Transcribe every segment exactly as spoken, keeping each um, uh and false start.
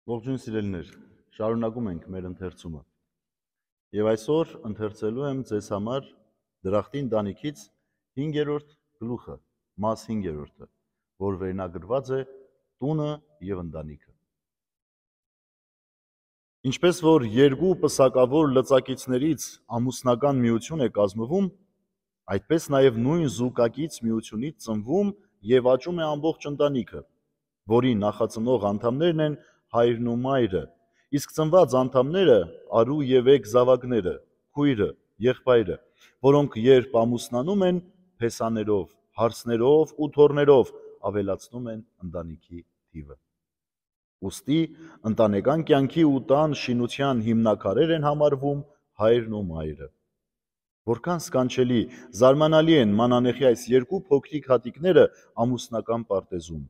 Ողջույն սիրելիներ, շարունակում ենք մեր ընթերցումը։ Եվ այսօր ընթերցելու եմ ձեզ համար Դրախտի ընտանիքից հինգերորդ գլուխը, մաս հինգերորդը, որ վերնագրված է Տունը եւ ընտանիքը։ Ինչպես որ երկու պսակավոր լծակիցներից ամուսնական միություն է կազմվում, այդպես նաև նույն զուգակից միությունից ծնվում եւ աճում է ամբողջ ընտանիքը, որի նախածնող անդամներն են հայրն ու մայրը, իսկ ծնված անդամները արու եւ եկ զավակները, քույրը, եղբայրը, որոնք երբ ամուսնանում են, փեսաներով, հարսներով ու թոռներով ավելացնում են ընտանիքի թիվը։ Ուստի ընտանեկան կյանքի ու տան շինության հիմնաքարեր են համարվում հայրն ու մայրը։ Որքան սքանչելի, զարմանալի են մանանեխի այս երկու փոքրիկ հատիկները ամուսնական պարտեզում,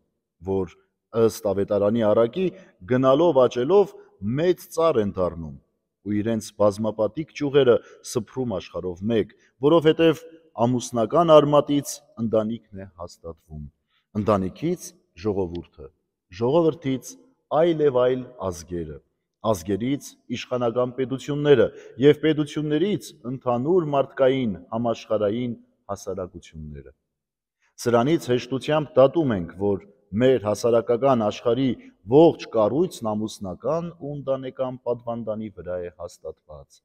որ ըստ ավետարանի առակի գնալով աճելով մեծ ծառ են դառնում ու իրենց բազմապատիկ ճյուղերը սփռում աշխարհով մեկ, որովհետև ամուսնական արմատից ընտանիքն է հաստատվում, ընտանիքից ժողովուրդը, ժողովրդից այլ եւ այլ ազգերը, ազգերից իշխանական պետությունները եւ պետություններից ընդհանուր մարդկային համաշխարհային հասարակությունները։ Սրանից հեշտությամբ դատում ենք, որ մեր հասարակական աշխարհի ողջ կառույցն ամուսնական ու ընտանեկան պատվանդանի վրա է հաստատված։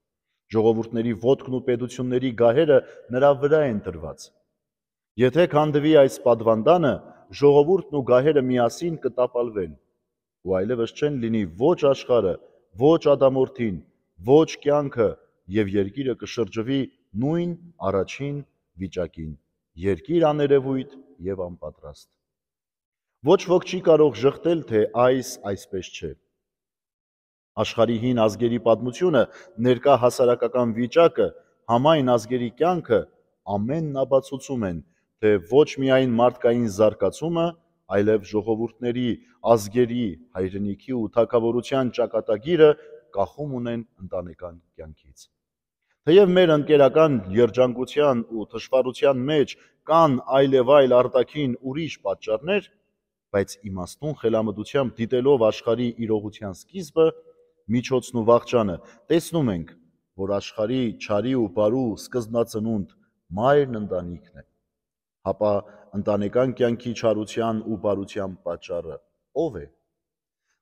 Ժողովուրդների ոտքն ու պետությունների գահերը նրա վրա են դրված։ Եթե քանդվի այս պատվանդանը, ժողովուրդն ու գահերը միասին կտապալվեն, ու այլևս չեն լինի ոչ աշխարհը, ոչ ադամորդին, ոչ կյանքը, եւ երկիրը կշրջվի նույն առաջին վիճակին՝ երկիր աներևույթ եւ անպատրաստ։ Ոչ ոք չի կարող ժխտել, թե այս այսպես չէ։ Աշխարհի հին ազգերի պատմությունը, ներկա հասարակական վիճակը, համայն ազգերի կյանքը ամենն ապացուցում են, թե ոչ միայն մարդկային զարգացումը, այլև ժողովուրդների, ազգերի, հայրենիքի ու թագավորության ճակատագիրը կախում ունեն ընտանեկան կյանքից։ Թեև մեր ընկերական երջանկության ու թշվառության մեջ կան այլ եւ այլ արտաքին ուրիշ պատճառներ, բայց իմաստուն խելամտությամբ դիտելով աշխարհի իրողության սկիզբը, միջոցն ու վախճանը, տեսնում ենք, որ աշխարհի չարի ու բարու սկզբնածնունդ մայրն ընտանիքն է։ Հապա ընտանեկան կյանքի չարության ու բարության պատճառը ո՞վ է։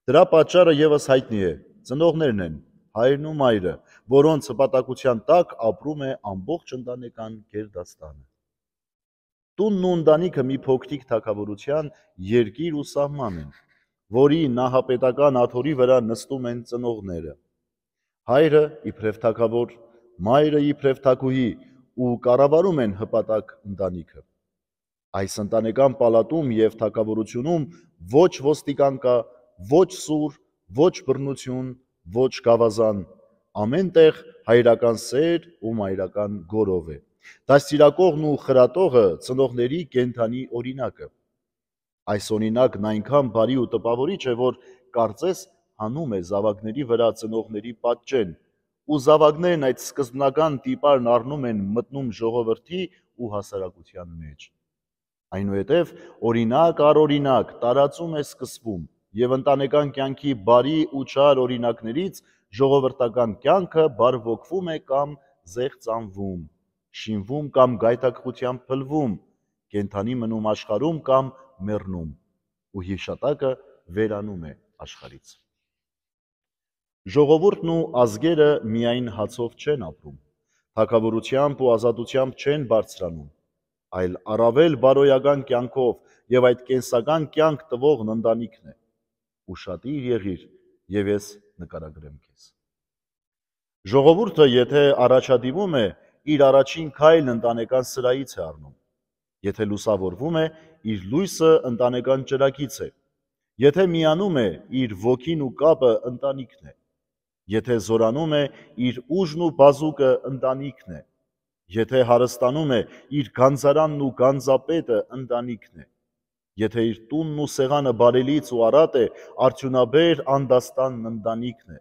Դրա պատճառը եւս հայտնի է, ծնողներն են, հայրն ու մայրը, որոնց հպատակության տակ ապրում է ամբողջ ընտանեկան գերդաստանը։ Տունն ու ընտանիքը մի փոքրիկ թագավորության երկիր ու սահման են, որի նահապետական աթոռի վրա նստում են ծնողները։ Հայրը իբրև թագավոր, մայրը իբրև թագուհի ու կառավարում են հպատակ ընտանիքը։ Այս ընտանեկան պալատում եւ թագավորությունում ոչ ոստիկան կա, ոչ սուր, ոչ բռնություն, ոչ գավազան, ամեն տեղ հայրական սեր ու մայրական գորով է։ Դաստիարակողն ու խրատողը ծնողների կենդանի օրինակը։ Այս օրինակն այնքան բարի ու տպավորիչ է, որ կարծես հանում է զավակների վրա ծնողների պատճեն, ու զավակներն այդ սկզբնական տիպարն առնում են մտնում ժողովրդի ու հասարակության մեջ։ Այնուհետև օրինակ առ օրինակ տարածում է սկսվում եւ ընտանեկան կյանքի բարի ու չար օրինակներից ժողովրդական կյանքը բարվոքվում է կամ զեղծանվում, շինվում կամ գայթակղությամբ փլվում, կենդանի մնում աշխարհում կամ մեռնում, ու հիշատակը վերանում է աշխարհից։ Ժողովուրդն ու ազգերը միայն հացով չեն ապրում, թագավորությամբ ու ազատությամբ չեն բարձրանում, այլ առավել բարոյական կյանքով եւ այդ կենսական կյանք տվողն ընտանիքն է։ Ուշադիր եղիր, եւ ես նկարագրեմ քեզ։ Ժողովուրդը, եթե առաջադիմում է, իր առաջին քայլն ընտանեկան սրահից է առնում։ Եթե լուսավորվում է, իր լույսը ընտանեկան ճրագից է։ Եթե միանում է, իր ոգին ու կապը ընտանիքն է։ Եթե զորանում է, իր ուժն ու բազուկը ընտանիքն է։ Եթե հարստանում է, իր գանձարանն ու գանձապետը ընտանիքն է։ Եթե իր տունն ու սեղանը բարելից ու առատ է, արդյունաբեր անդաստանն ընտանիքն է։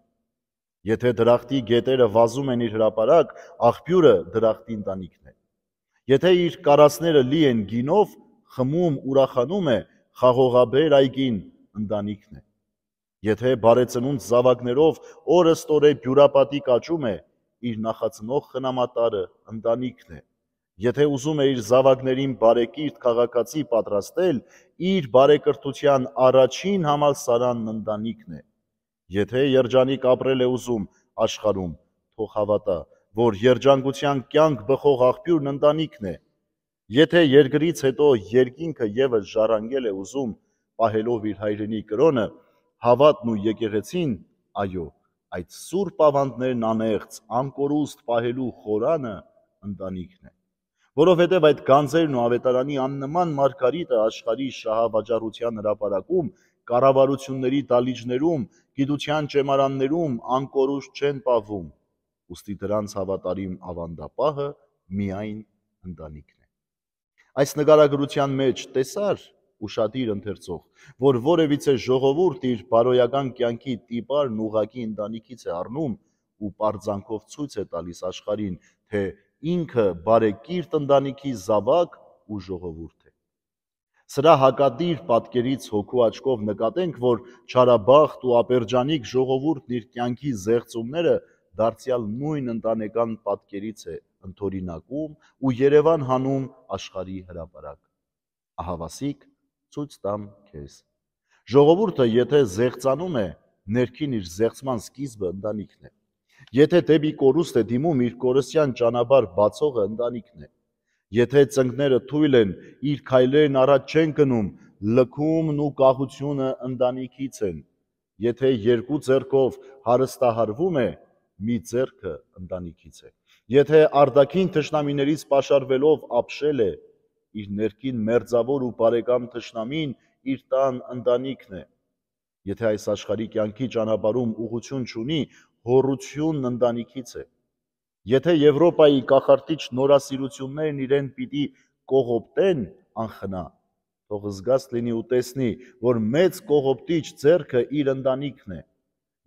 Եթե դրախտի գետերը վազում են իր հրապարակ, աղբյուրը դրախտի ընտանիքն է։ Եթե իր կարասները լի են գինով, խմում ուրախանում է, խաղողաբեր այգին ընտանիքն է։ Եթե բարեցնունդ զավակներով օրը ստորե բյուրապատիկ աճում է, իր նախածնող խնամատարը ընտանիքն է։ Եթե ուզում է իր զավակներին բարեկիրթ քաղաքացի պատրաստել, իր բարեկրթության առաջին համալսարանն ընտանիքն է։ Եթե երջանիկ ապրել է ուզում աշխարհում, թող հավատա, որ երջանկության կյանք բխող աղբյուրն ընտանիքն է։ Եթե երկրից հետո երկինքը ևս ժառանգել է ուզում, պահելով իր հայրենի կրոնը, հավատն ու եկեղեցին, այո, այդ սուրբ ավանդներն անեղծ, անկորուստ պահելու խորանը ընտանիքն է։ Որովհետև այդ գանձերն ու ավետարանի աննման մարգարիտը աշխարհի շահավաճառության հրապարակում, կառավարությունների դալիճներում, գիտության ճեմարաններում անկորուստ չեն պահվում, ուստի դրանց հավատարիմ ավանդապահը միայն ընտանիքն է։ Այս նկարագրության մեջ տեսար ուշադիր ընթերցող, որ որևիցե ժողովուրդ իր բարոյական կյանքի տիպարն ուղղակի ընտանիքից է առնում ու պարծանքով ցույց է տալիս աշխարհին, թե ինքը բարեկիրթ ընտանիքի զավակ ու ժողովուրդ է։ Սրա հակադիր պատկերից հոգու աչքով նկատենք, որ չարաբախտ ու ապերջանիկ ժողովուրդն իր կյանքի զեղծումները դարձյալ նույն ընտանեկան պատկերից է ընթորինակում ու Երևան հանում աշխարհի հրապարակ։ Ահավասիկ ցույց տամ քեզ։ Ժողովուրդը եթե զեղծանում է, ներքին իր զեղծման սկիզբը ընտանիքն է։ Եթե դեպի կորուստ է դիմում, իր կորստյան ճանապարհ բացողը ընտանիքն է։ Եթե ծնկները թույլ են, իր քայլերն առաջ չեն գնում, լքումն ու կախությունը ընտանիքից են։ Եթե երկու ձեռքով հարստահարվում է, մի ձեռքը ընտանիքից է։ Եթե արտաքին թշնամիներից պաշարվելով ապշել է, իր ներքին մերձավոր ու բարեկամ թշնամին իր տան ընտանիքն է։ Եթե այս աշխարհի կյանքի ճանապարհում ուղղություն չունի, հոռությունն ընտանիքից է։ Եթե Եվրոպայի կախարդիչ նորասիրություններն իրեն պիտի կողոպտեն անխնա, թող զգաց լինի ու տեսնի, որ մեծ կողոպտիչ ձեռքը իր ընտանիքն է։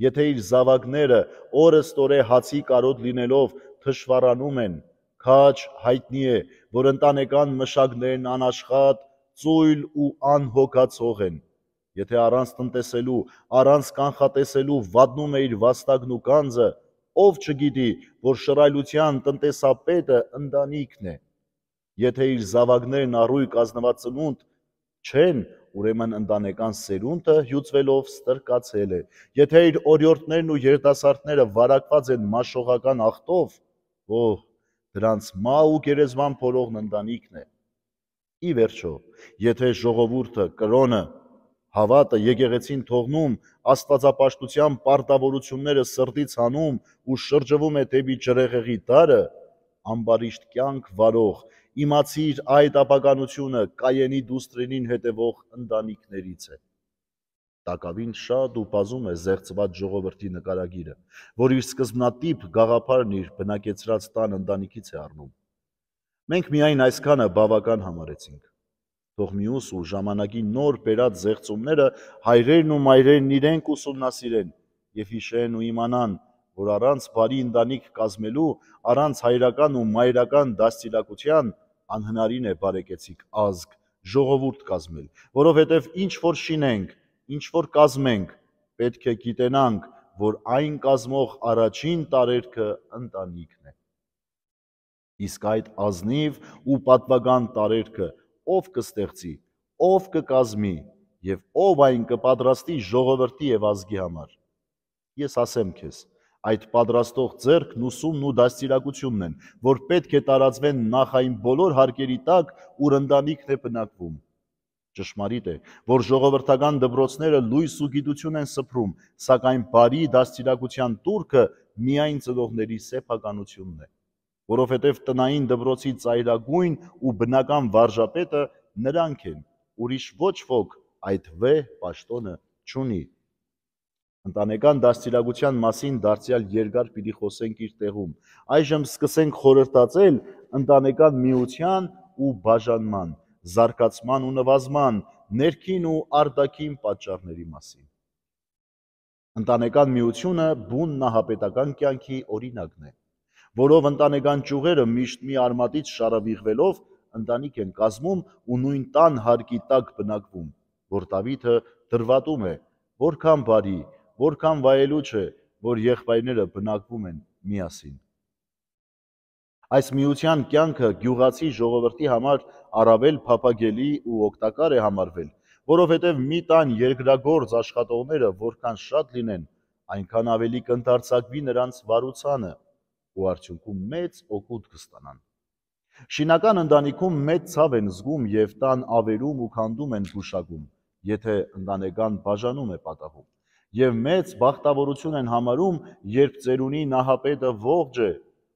Եթե իր զավակները օրըստորե հացի կարոտ լինելով թշվառանում են, քաջ հայտնի է, որ ընտանեկան մշակներն անաշխատ, ծույլ ու անհոգացող են։ Եթե առանց տնտեսելու, առանց կանխատեսելու վատնում է իր վաստակն ու գանձը, ով չգիտի, որ շռայլության տնտեսապետը ընտանիքն է։ Եթե իր զավակներն առույգ ազնված ծնունդ չեն, ուրեմն ընտանեկան սերունդը հյուծվելով ստրկացել է։ Եթե իր օրիորդներն ու երիտասարդները վարակված են մաշողական ախտով, օհ, դրանց մահ ու գերեզման փորողն ընտանիքն է։ Ի վերջո, եթե ժողովուրդը, կրոնը, հավատը եկեղեցին թողնում, աստվածապաշտության պարտավորությունները սրտից հանում ու շրջվում է դեպի ջրեղեղի դարը, ամբարիշտ կյանք վարող, իմացիր այդ ապականությունը Կայենի դուստրերին հետևող ընտանիքներից է։ Տակավին շատ ու բազում է զեղծված ժողովրդի նկարագիրը, որ իր սկզբնատիպ գաղափարն իր բնակեցրած տան ընտանիքից է առնում։ Մենք միայն այսքանը բավական համարեցինք։ Թող մյուս ու ժամանակի նոր բերած զեղծումները հայրերն ու մայրերն իրենք ուսումնասիրեն եւ հիշեն ու իմանան, որ առանց բարի ընտանիք կազմելու, առանց հայրական ու մայրական դաստիարակության անհնարին է բարեկեցիկ ազգ, ժողովուրդ կազմել, որովհետև ինչ որ շինենք, ինչ որ կազմենք, պետք է գիտենանք, որ այն կազմող առաջին տարերքը ընտանիքն է։ Իսկ այդ ազնիվ ու պատվական տարերքը ով կստեղծի, ով կկազմի եւ ով այն կպատրաստի ժողովրդի եւ ազգի համար։ Ես ասեմ քեզ, այդ պատրաստող ձեռքն ուսումն ու դաստիարակությունն են, որ պետք է տարածվեն նախ այն բոլոր հարկերի տակ, ուր ընտանիքն է բնակվում։ Ճշմարիտ է, որ ժողովրդական դպրոցները լույս ու գիտություն են սփռում, սակայն բարի դաստիարակության տուրքը միայն ծնողների սեփականությունն է, որովհետև տնային դպրոցի ծայրագույն ու բնական վարժապետը նրանք են, ուրիշ ոչ ոք այդ վեհ պաշտոնը չունի։ Ընտանեկան դաստիարակության մասին դարձյալ երկար պիտի խոսենք իր տեղում։ Այժմ սկսենք խորհրդածել ընտանեկան միության ու բաժանման, զարգացման ու նվազման, ներքին ու արտաքին պատճառների մասին։ Ընտանեկան միությունը բուն նահապետական կյանքի օրինակն է, որով ընտանեկան ճյուղերը միշտ մի արմատից շարավիղվելով ընտանիք են կազմում ու նույն տան հարկի տակ բնակվում, որ Դավիթը դրվատում է, որքան բարի, որքան վայելուչ է, որ եղբայրները բնակվում են միասին։ Այս միության կյանքը գյուղացի ժողովրդի համար առավել փափագելի ու օգտակար է համարվել, որովհետև մի տան երկրագործ աշխատողները որքան շատ լինեն, այնքան ավելի կընդարձակվի նրանց վարուցանը ու արդյունքում մեծ օգուտ կստանան։ Շինական ընտանիքում մեծ ցավ են զգում և տան ավերում ու քանդում են գուշակում, եթե ընտանեկան բաժանում է պատահում, և մեծ բախտավորություն են համարում, երբ ծերունի նահապետը ողջ է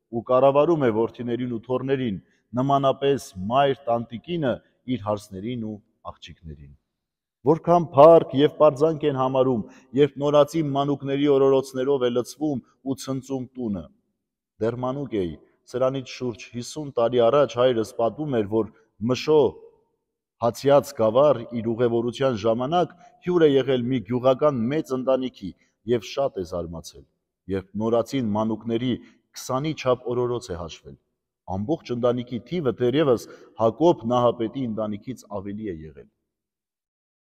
ու կառավարում է որդիներին ու թոռներին, նմանապես մայր տանտիկինը իր հարսներին ու աղջիկներին։ Որքան փառք և պարծանք են համարում, երբ նորածի մանուկների օրորոցներով է լցվում ու ցնծում տունը։ Դեռ մանուկ էի, սրանից շուրջ հիսուն տարի առաջ հայրս պատմում էր, որ Մշո Հացյաց գավառ իր ուղևորության ժամանակ հյուր է եղել մի գյուղական մեծ ընտանիքի և շատ է զարմացել, երբ նորածին մանուկների քսանի չափ օրորոց է հաշվել։ Ամբողջ ընտանիքի թիվը դեռևս Հակոբ նահապետի ընտանիքից ավելի է եղել։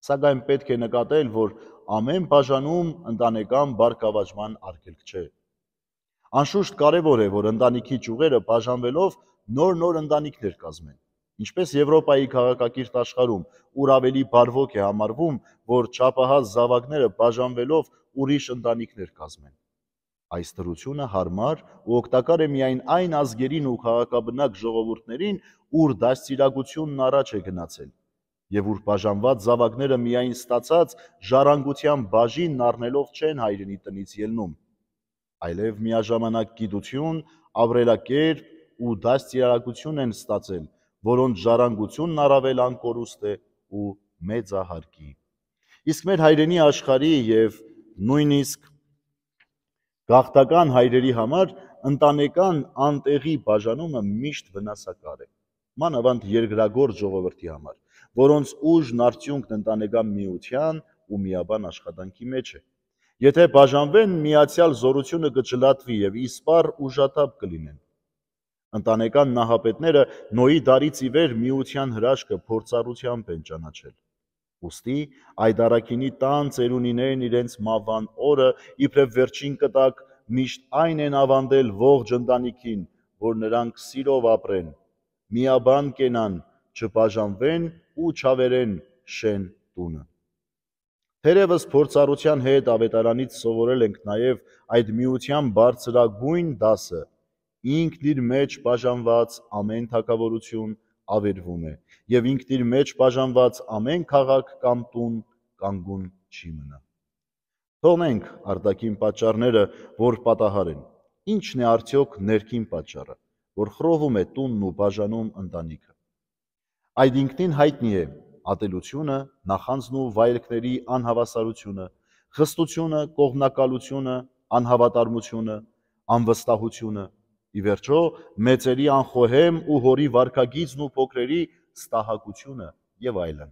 Սակայն պետք է նկատել, որ ամեն բաժանում ընտանեկան բարգավաճման արգելք չէ։ Անշուշտ կարևոր է, որ ընտանիքի ճյուղերը բաժանվելով նոր-նոր ընտանիքներ կազմեն, ինչպես Եվրոպայի քաղաքակիրթ աշխարհում, ուր ավելի բարվոք է համարվում, որ չափահաս զավակները բաժանվելով ուրիշ ընտանիքներ կազմեն։ Այս դրությունը հարմար ու օգտակար է միայն այն ազգերին ու քաղաքաբնակ ժողովուրդներին, ուր դաստիարակությունն առաջ է գնացել, և ուր բաժանված զավակները միայն ստացած ժառանգության բաժինն առնելով չեն հայրենի տնից ելնում, այլև միաժամանակ գիտություն, ապրելակերպ ու դաստիարակություն են ստացել, որոնց ժառանգությունն առավել անկորուստ է ու մեծահարկի։ Իսկ մեր հայրենի աշխարհի և նույնիսկ գաղթական հայրերի համար ընտանեկան անտեղի բաժանումը միշտ վնասակար է, մանավանդ երկրագործ ժողովրդի համար, որոնց ուժն արդյունքն ընտանեկան միության ու միաբան աշխատանքի մեջ է։ Եթե բաժանվեն, միացյալ զորությունը կջլատվի և իսպառ ուժաթափ կլինեն։ Ընտանեկան նահապետները Նոյի դարից ի վեր միության հրաշքը փորձառությամբ են ճանաչել։ Ուստի այդ առաքինի տան ծերունիներն իրենց մահվան օրը իբրև վերջին կտակ միշտ այն են ավանդել ողջ ընտանիքին, որ նրանք սիրով ապրեն, միաբան կենան, չբաժանվեն ու չավերեն շեն տունը։ Թերևս փորձառության հետ ավետարանից սովորել ենք նաև այդ միության բարձրագույն դասը. ինքն իր մեջ բաժանված ամեն թագավորություն ավերվում է, և ինքն իր մեջ բաժանված ամեն քաղաք կամ տուն կանգուն չի մնա։ Թողնենք արտաքին պատճառները, որ պատահար են։ Ի՞նչն է արդյոք ներքին պատճառը, որ խռովում է տունն ու բաժանում ընտանիքը։ Այդ ինքնին հայտնի է ատելությունը, նախանձն ու վայելքների անհավասարությունը, խստությունը, կողմնակալությունը, անհավատարմությունը, անվստահությունը, ի վերջո մեծերի անխոհեմ ու հորի վարքագիծն ու փոքրերի ստահակությունը և այլն։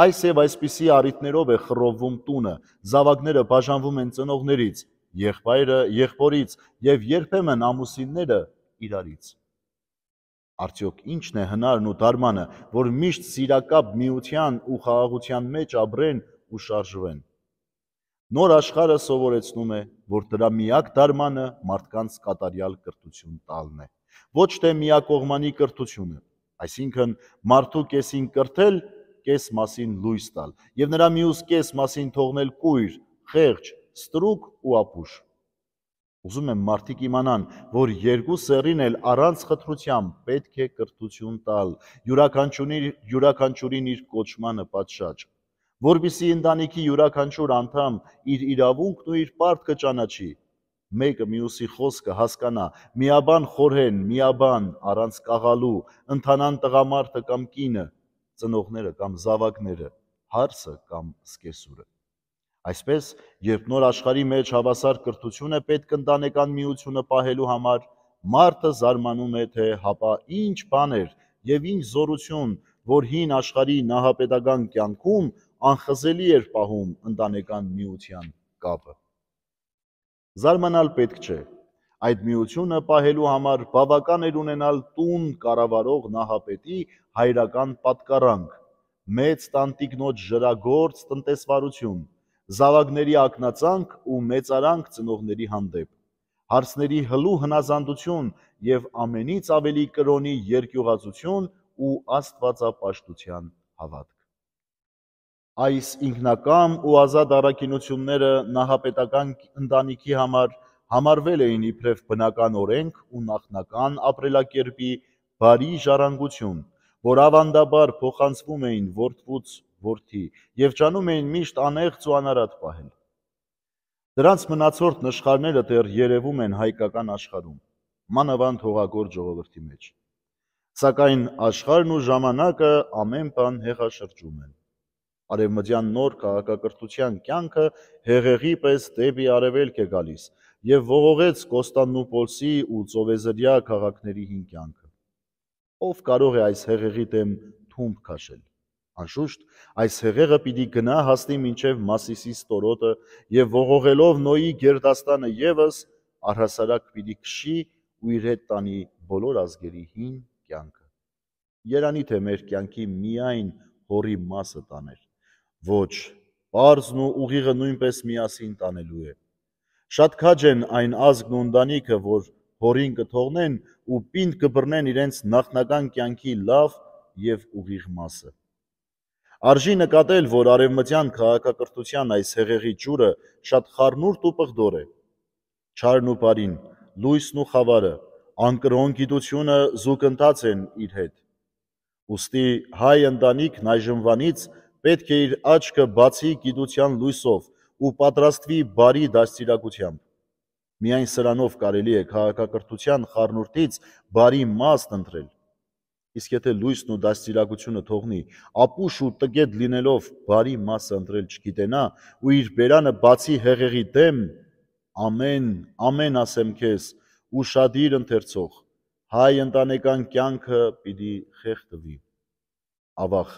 Այս և այսպիսի առիթներով է խռովվում տունը, զավակները բաժանվում են ծնողներից, եղբայրը եղբորից և երբեմն ամուսինները իրարից։ Արդյոք ի՞նչն է հնարն ու դարմանը, որ միշտ սիրակապ միության ու խաղաղության մեջ ապրեն ու շարժվեն։ Նոր աշխարհը սովորեցնում է, որ դրա միակ դարմանը մարդկանց կատարյալ կրթություն տալն է, ոչ թե միակողմանի կրթությունը, այսինքն մարդու կեսին կրթել, կես մասին լույս տալ, և նրա մյուս կես մասին թողնել կույր, խեղճ, ստրուկ ու ապուշ։ Ուզում եմ մարդիկ իմանան, որ երկու սեռին էլ առանց խտրության պետք է կրթություն տալ, յուրաքանչյուրին իր կոչմանը պատշաճ, որպեսզի ընտանիքի յուրաքանչյուր անդամ իր իրավունքն ու իր պարտքը ճանաչի, մեկը մյուսի խոսքը հասկանա, միաբան խորհեն, միաբան, առանց կաղալու, ընթանան տղամարդը կամ կինը, ծնողները կամ զավակները, հարսը կամ սկեսուրը։ Այսպես, երբ նոր աշխարհի մեջ հավասար կրթություն է պետք ընտանեկան միությունը պահելու համար, մարդը զարմանում է, թե հապա ինչ բան էր և ինչ զորություն, որ հին աշխարհի նահապետական կյանքում անխզելի էր պահում ընտանեկան միության կապը։ Զարմանալ պետք չէ։ Այդ միությունը պահելու համար բավական էր ունենալ տուն կառավարող նահապետի հայրական պատկառանք, մեծ տանտիկնոջ ժրագործ տնտեսվարություն, զավակների ակնածանք ու մեծարանք ծնողների հանդեպ, հարցների հլու հնազանդություն և ամենից ավելի կրոնի երկյուղածություն ու աստվածապաշտության հավատք։ Այս ինքնակամ ու ազատ առաքինությունները նահապետական ընտանիքի համար համարվել էին իբրև բնական օրենք ու նախնական ապրելակերպի բարի ժառանգություն, որ ավանդաբար փոխանցվում էին որդուց որդի և ջանում էին միշտ անեղծ ու անարատ պահել։ Դրանց մնացորդ նշխարները դեռ երևում են հայկական աշխարհում, մանավանդ հողագործ ժողովրդի մեջ։ Սակայն աշխարհն ու ժամանակը ամեն բան հեղաշրջում են։ Արևմտյան նոր քաղաքակրթության կյանքը հեղեղի պես դեպի արևելք է գալիս և ողողեց Կոստանդնուպոլսի ու ծովեզրյա քաղաքների հին կյանքը։ Ով կարող է այս հեղեղի դեմ թումբ քաշել։ Անշուշտ, այս հեղեղը պիտի գնա հասնի մինչև Մասիսի ստորոտը և ողողելով Նոյի գերդաստանը ևս առհասարակ պիտի քշի ու իր հետ տանի բոլոր ազգերի հին կյանքը։ Երանի թե մեր կյանքի միայն հորի մասը տաներ, ոչ, պարզն ու ուղիղը նույնպես միասին տանելու է։ Շատ քաջ են այն ազգն ու ընտանիքը, որ հորին կթողնեն ու պինդ կբռնեն իրենց նախնական կյանքի լավ և ուղիղ մասը։ Արժի նկատել, որ արևմտյան քաղաքակրթության այս հեղեղի ջուրը շատ խառնուրդ ու պղդոր է։ Չարն ու բարին, լույսն ու խավարը, անկրոն գիտությունը զուգընթաց են իր հետ։ Ուստի հայ ընտանիքն այժմվանից պետք է իր աչքը բացի գիտության լույսով ու պատրաստվի բարի դաստիարակությամբ։ Միայն սրանով կարելի է քաղաքակրթության խառնուրդից բարի մասն ընտրել։ Իսկ եթե լույսն ու դաստիարակությունը թողնի, ապուշ ու տգետ լինելով բարի մասը ընտրել չգիտենա ու իր բերանը բացի հեղեղի դեմ, ամեն, ամեն ասեմ քեզ, ուշադիր ընթերցող, հայ ընտանեկան կյանքը պիտի խեղդվի։ Ավաղ,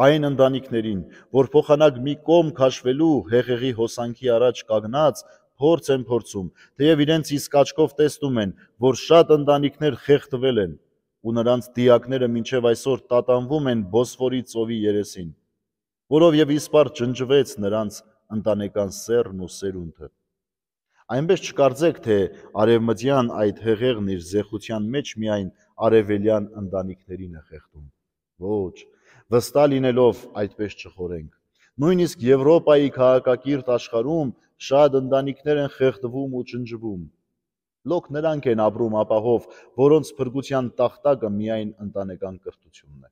այն ընտանիքներին, որ փոխանակ մի կողմ քաշվելու հեղեղի հոսանքի առաջ կանգնած փորձ են փորձում, թեև իրենց իսկ աչքով տեսնում են, որ շատ ընտանիքներ խեղդվել են, ու նրանց դիակները մինչև այսօր տատանվում են Բոսֆորի ծովի երեսին, որով և իսպառ ջնջվեց նրանց ընտանեկան սեռն ու սերունդը։ Այնպես չկարծեք, թե արևմտյան այդ հեղեղն իր զեխության մեջ միայն արևելյան ընտանիքներին է խեղդում։ Ոչ, վստահ լինելով այդպես չխորենք։ Նույնիսկ Եվրոպայի քաղաքակիրթ աշխարհում շատ ընտանիքներ են խեղդվում ու ջնջվում։ Լոկ նրանք են ապրում ապահով, որոնց փրկության տախտակը միայն ընտանեկան կրթությունն է։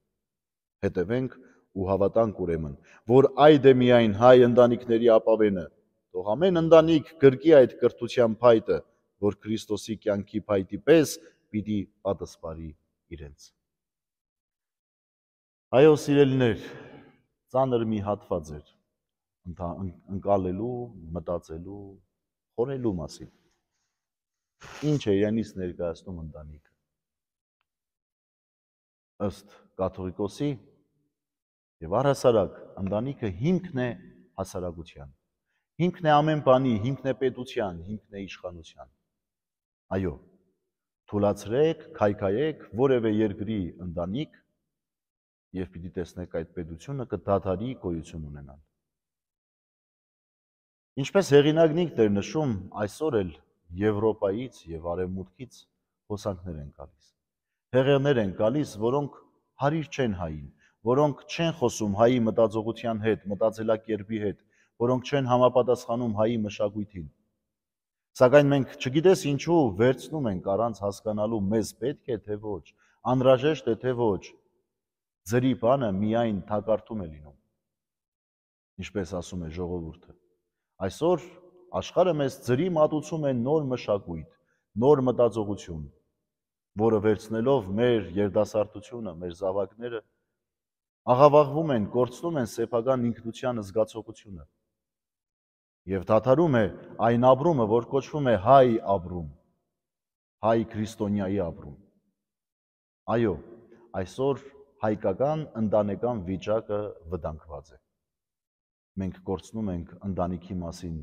Հետևենք ու հավատանք ուրեմն, որ այդ է միայն հայ ընտանիքների ապավենը, թող ամեն ընտանիք գրկի այդ կրթության փայտը, որ Քրիստոսի կյանքի փայտի պես պիտի պատասպարի իրենց։ Այո, սիրելիներ, ծանր մի հատված էր ընկալելու, մտածելու, խորելու մասին։ Ինչ է իրենից ներկայացնում ընտանիքը։ Ըստ կաթողիկոսի եւ առհասարակ ընտանիքը հիմքն է հասարակության, հիմքն է ամեն բանի, հիմքն է պետության, հիմքն է իշխանության։ Այո, թուլացրեք, քայքայեք որևէ երկրի ընտանիք եւ պիտի տեսնեք այդ պետությունը կդադարի գոյություն ունենալ։ Ինչպես հեղինակն ինքն էր նշում, այսօր էլ Եվրոպայից եւ Արևմուտքից հոսանքներ են գալիս։ Հեղեղներ են գալիս, որոնք հարիր չեն հային, որոնք չեն խոսում հայի մտածողության հետ, մտածելակերպի հետ, որոնք չեն համապատասխանում հայի մշակույթին։ Սակայն մենք չգիտես ինչու վերցնում ենք առանց հասկանալու մեզ պետք է թե ոչ, անհրաժեշտ է թե ոչ, ձրի բանը միայն թակարդում է լինում։ Ինչպես ասում է ժողովուրդը։ Այսօր աշխարհը մեզ ձրի մատուցում է նոր մշակույթ, նոր մտածողություն, որը վերցնելով մեր երիտասարդությունը, մեր զավակները, աղավաղվում են, կորցնում են սեփական ինքնության զգացողությունը եւ դադարում է այն ապրումը, որ կոչվում է հայ ապրում, հայ քրիստոնյայի ապրում։ Այո, այսօր հայկական ընտանեկան վիճակը վտանգված է։ Մենք կորցնում ենք ընտանիքի մասին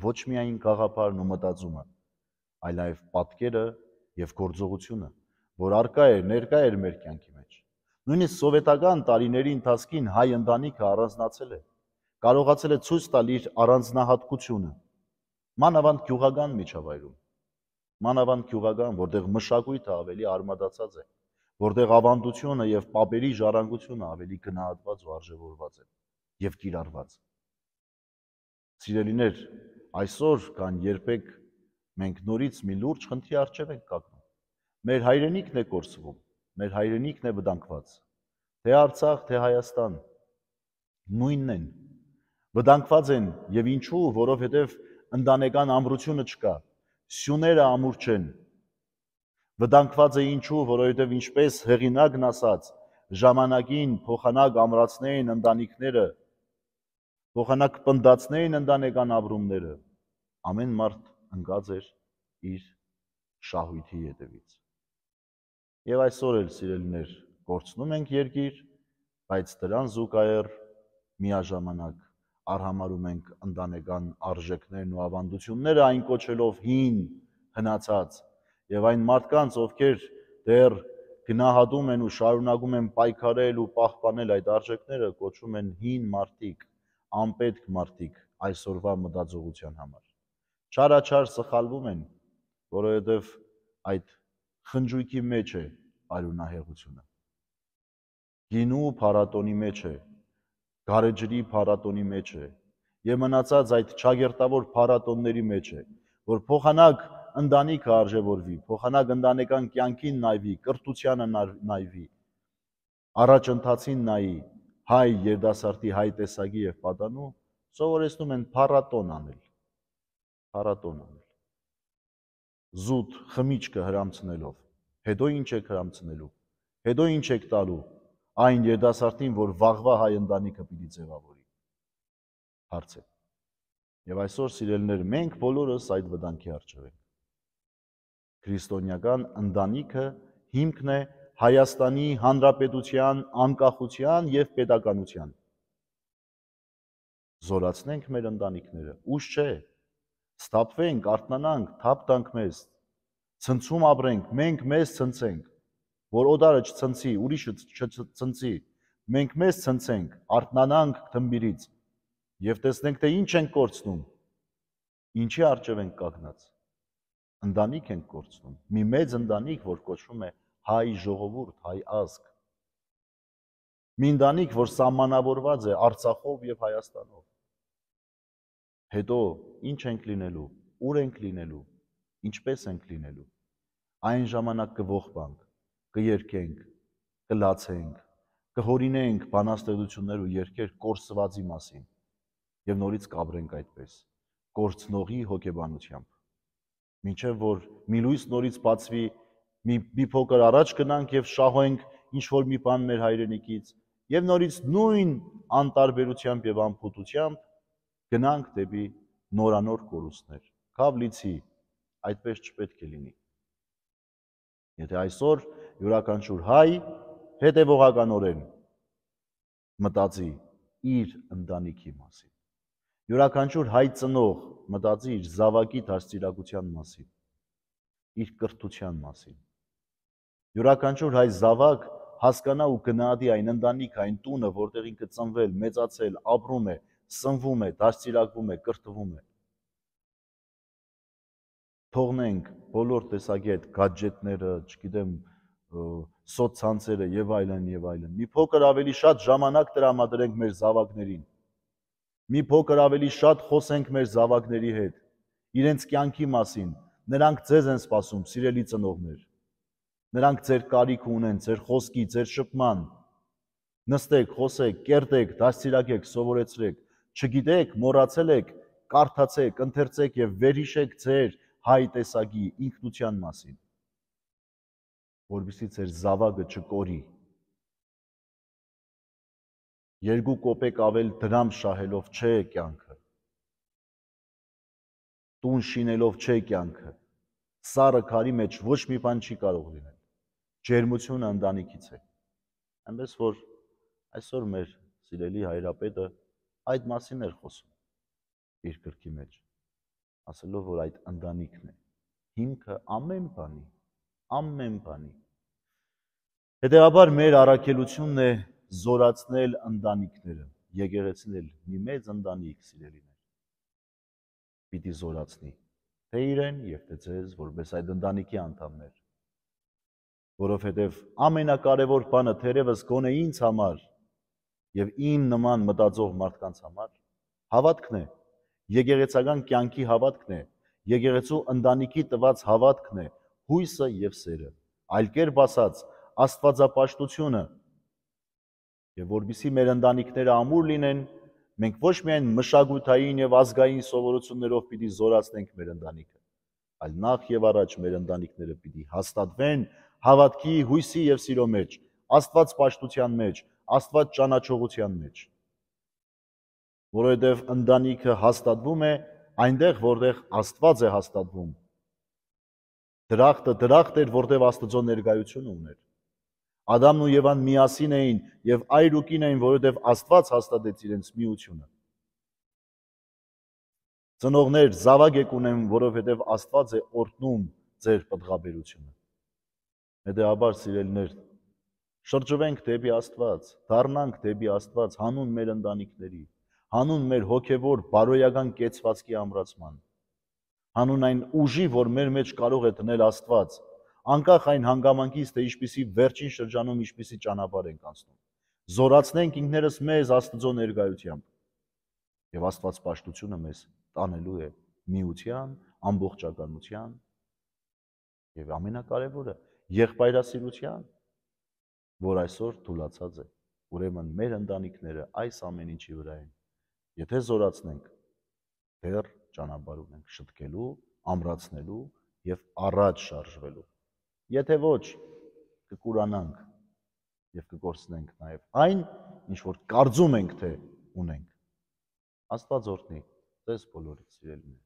ոչ միայն գաղափարն ու մտածումը, այլ նաև պատկերը եւ գործողությունը, որ արկա էր, ներկա էր մեր կյանքի մեջ։ Նույնիսկ սովետական տարիների ընթացքին հայ ընտանիքը առանձնացել է։ կարողացել է ցույց տալ իր առանձնահատկությունը, մանավանդ գյուղական միջավայրում, մանավանդ գյուղական, որտեղ մշակույթը ավելի արմատացած է, որտեղ ավանդությունը եւ պապերի ժառանգությունը ավելի գնահատված ու արժևորված է եւ կիրառված։ Սիրելիներ, այսօր կան երբեք մենք նորից մի լուրջ խնդրի առջև ենք կանգնում։ Մեր հայրենիքն է կորսվում, մեր հայրենիքն է վտանգված։ Թե Արցախ, թե Հայաստան նույնն են։ Վտանգված են եւ ինչու, որովհետեւ ընտանեկան ամրությունը չկա։ Սյուները ամուր չեն։ Վտանգված է ինչու, որովհետեւ ինչպես հեղինակն ասաց, ժամանակին փոխանակ ամրացնեին ընտանիքները, փոխանակ պնդացնեին ընտանեկան ապրումները, ամեն մարդ ընկած էր իր շահույթի ետևից։ Եվ այսօր էլ սիրելիներ, կորցնում ենք երկիր, բայց դրան զուգահեռ միաժամանակ արհամարում ենք ընտանեկան արժեքներն ու ավանդությունները այն կոչելով հին, հնացած, եւ այն մարդկանց, ովքեր դեռ գնահատում են ու շարունակում են պայքարել ու պահպանել այդ արժեքները, կոչում են հին մարդիկ, անպետք մարդիկ այսօրվա մտածողության համար։ Չարաչար սխալվում են, որովհետև այդ խնջույքի մեջ է արյունահեղությունը։ Գինու փառատոնի մեջ է, գարեջրի փառատոնի մեջ է, եւ մնացած այդ չագերտավոր փառատոնների մեջ է, որ փոխանակ ընտանիքը արժևորվի, փոխանակ ընտանեկան կյանքին նայվի, կրթությանը նայվի, առաջընթացին նայի, հայ երդասարտի հայ տեսակի եւ պատանու, սովորեցնում են փառատոն անել, փառատոն անել։ Զուտ խմիչքը հրամցնելով, հետո ինչ եք հրամցնելու, հետո ինչ եք տալու այն երդասարտին, որ վաղվա հայ ընտանիքը պիտի ձևավորի։ Հարց է։ Եվ այսօր սիրելիներ, մենք բոլորս այդ վտանգի առջև ենք։ Քրիստոնեական ընտանիքը հիմքն է Հայաստանի Հանրապետության անկախության եւ պետականության։ Զորացնենք մեր ընտանիքները, ուշ չէ, սթափվենք, արթնանանք, թափ տանք մեզ, ցնցում ապրենք, մենք մեզ ցնցենք, որ օտարը չցնցի, ուրիշը չցնցի, մենք մեզ ցնցենք, արթնանանք թմբիրից եւ տեսնենք, թե ինչ ենք կորցնում, ինչի առջև ենք կանգնած։ Ընտանիք ենք կորցնում, մի մեծ ընտանիք, որ կոչվում է հայ ժողովուրդ, հայ ազգ։ Մի ընտանիք, որ սահմանավորված է Արցախով եւ Հայաստանով։ Հետո ինչ ենք լինելու, ուր ենք լինելու, ինչպես ենք լինելու։ Այն ժամանակ կողբանք, կերկենք, կլացենք, կհորինենք բանաստեղծություններ ու երգեր կորսվածի մասին եւ նորից կապրենք այդպես, կորցնողի հոգեբանությամբ։ Մինչև որ մի լույս նորից բացվի, մի, մի փոքր առաջ գնանք եւ շահենք ինչ որ մի բան մեր հայրենիքից եւ նորից նույն անտարբերությամբ եւ անփութությամբ գնանք դեպի նորանոր կորուստներ։ Քավլիցի, այդպես չպետք է լինի։ Եթե այսօր յուրաքանչյուր հայ հետևողականորեն մտածի իր ընտանիքի մասին, յուրաքանչյուր հայ ծնող մտածի իր զավակի դաստիարակության մասին, իր կրթության մասին, յուրաքանչյուր հայ զավակ հասկանա ու գնահատի այն ընտանիքը, այն տունը, որտեղ ինքը ծնվել, մեծացել, ապրում է, սնվում է, դաստիարակվում է, կրթվում է։ Թողնենք բոլոր տեսակի այդ գադջետները, չգիտեմ, սոցցանցերը եւ այլն եւ այլն։ Մի փոքր ավելի շատ ժամանակ տրամադրենք մեր զավակներին։ Մի փոքր ավելի շատ խոսենք մեր զավակների հետ, իրենց կյանքի մասին, նրանք ձեզ են սպասում, սիրելի ծնողներ։ Նրանք ձեր կարիք ունեն, ձեր խոսքի, ձեր շփման։ Նստեք, խոսեք, կերտեք, դաստիարակեք, սովորեցրեք, չգիտեք, մոռացել եք, կարդացեք, ընթերցեք եւ վերհիշեք ձեր հայ տեսակի ինքնության մասին, որովհետեւ ձեր զավակը չկորի։ Երկու կոպեկ ավել դրամ շահելով չէ կյանքը։ Տուն շինելով չէ կյանքը։ Սառը քարի մեջ ոչ մի բան չի կարող լինել։ Ջերմությունը ընտանիքից է։ Այնպես որ այսօր մեր սիրելի հայրապետը այդ մասին էր խոսում իր գրքի մեջ, ասելով, որ այդ ընտանիքն է հիմքը ամեն բանի, ամեն բանի։ Հետևաբար մեր առաքելությունն է զորացնել ընտանիքները, եկեղեցին էլ մի մեծ ընտանիք սիրելիներ պիտի զորացնի թե իրեն եւ թե ձեզ որպես այդ ընտանիքի անդամներ, որովհետեւ ամենակարևոր բանը թերևս գոնե ինձ համար եւ իմ նման մտածող մարդկանց համար հավատքն է, եկեղեցական կյանքի հավատքն է, եկեղեցու ընտանիքի տված հավատքն է, հույսը եւ սերը, այլ կերպ ասած, աստվածապաշտությունը, եւ որբիսի մեր ընտանիքները ամուր լինեն, մենք ոչ միայն մշակութային եւ ազգային սովորություններով պիտի զորացնենք մեր ընտանիքը, այլ նախ եւ առաջ մեր ընտանիքները պիտի հաստատվեն հավատքի, հույսի եւ սիրո մեջ, աստվածպաշտության մեջ, աստված ճանաչողության մեջ, որովհետեւ ընտանիքը հաստատվում է այնտեղ, որտեղ Աստված է հաստատվում։ Դրախտը դրախտ էր, որտեղ Աստծո ներկայությունը ուներ։ Ադամն ու Եվան միասին էին եւ այր ու կին էին, որովհետեւ Աստված հաստատեց իրենց միությունը։ Ծնողներ, զավակ եք ունեմ, որովհետեւ Աստված է օրհնում ձեր պտղաբերությունը։ Հետեւաբար, սիրելիներ, շրջվենք դեպի Աստված, դառնանք դեպի Աստված հանուն մեր ընտանիքների, հանուն մեր հոգևոր բարոյական կեցվածքի ամրացման, հանուն այն ուժի, որ մեր մեջ կարող է դնել Աստված, անկախ այն հանգամանքից, թե ինչպիսի վերջին շրջանում ինչպիսի ճանապարհ ենք անցնում։ Զորացնենք ինքներս մեզ Աստծո ներկայությամբ եւ Աստվածպաշտությունը մեզ տանելու է միության, ամբողջականության եւ ամենակարևորը եղբայրասիրության, որ այսօր թուլացած է։ Ուրեմն մեր ընտանիքները այս ամեն ինչի վրա են։ Եթե զորացնենք, դեռ ճանապարհ ունենք շտկելու, ամրացնելու եւ առաջ շարժվելու։ Եթե ոչ, կկուրանանք եւ կկորցնենք նաեւ այն, ինչ որ կարծում ենք, թե ունենք։ Աստված օրհնի ձեզ բոլորիդ, սիրելիներ։